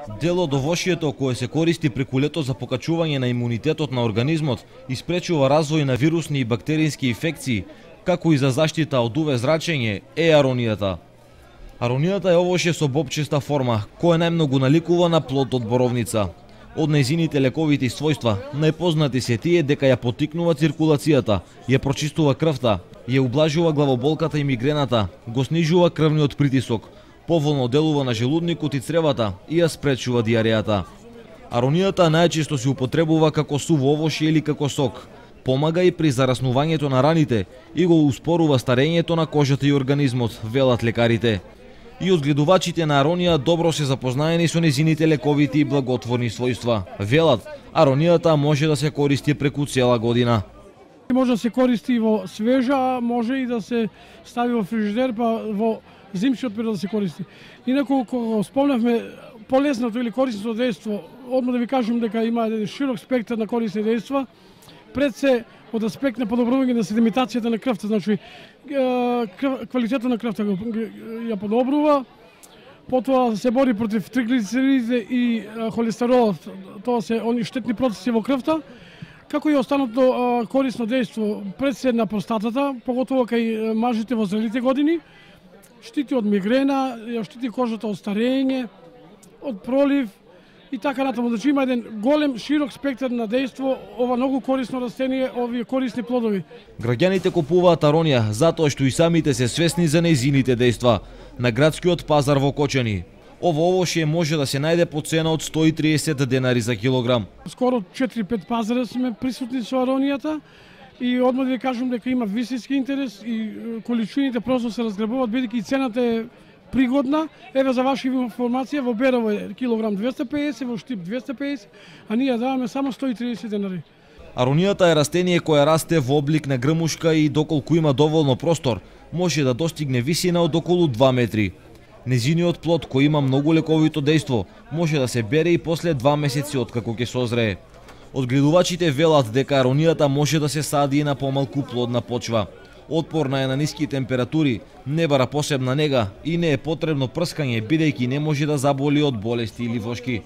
Дел од овошјето кое се користи преку лето за покачување на имунитетот на организмот и спречува развој на вирусни и бактериски инфекции, како и за заштита од УВ зрачење, е аронијата. Аронијата е овошје со бобчеста форма, која најмногу наликува на плод од боровница. Од нејзините лековити својства, најпознати се тие дека ја поттикнува циркулацијата, ја прочистува крвта, ја ублажува главоболката и мигрената, го снижува крвниот притисок, поволно делува на желудникот и цревата и ја спречува диарејата. Аронијата најчесто се употребува како суво овошје или како сок. Помага и при зараснувањето на раните и го успорува старењето на кожата и организмот, велат лекарите. И одгледувачите на аронија добро се запознаени со нејзините лековити и благотворни својства. Велат, аронијата може да се користи преку цела година. Може да се користи во свежа, може и да се стави во фрижидер, па во зимскиот период да се користи. Инаку, кога спомнавме полесното или корисното дејство, одма да ви кажам дека има еден широк спектар на корисни дејства, пред се од аспект на подобрување на седиментацијата на крвта, значи квалитетот на крвта ја подобрува, потоа се бори против триглицеридите и холестеролот, тоа се они штетни процеси во крвта, како и останато корисно дејство пред се на простатата, поготово кај мажите во зрелите години, штити од мигрена, ја штити кожата од старење, од пролив и така натаму. Значи има еден голем, широк спектар на дејство, ова многу корисно растение, овие корисни плодови. Граѓаните купуваат аронија затоа што и самите се свесни за нејзините дејства на градскиот пазар во Кочани. Ово овошје може да се најде по цена од 130 денари за килограм. Скоро 4-5 пазара сме присутни со аронијата и одма да ви кажам дека има високи интерес и количините просто се разграбуваат, бидејќи и цената е пригодна. Еве за ваша информација, во Берово е килограм 250, во Штип 250, а ние даваме само 130 денари. Аронијата е растение кое расте во облик на грмушка и доколку има доволно простор, може да достигне висина од околу 2 метри. Незиниот плод, кој има многу лековито дејство, може да се бере и после 2 месеци откако ќе созрее. Одгледувачите велат дека аронијата може да се сади и на помалку плодна почва. Отпорна е на ниски температури, не бара посебна нега и не е потребно прскање, бидејќи не може да заболи од болести или вошки.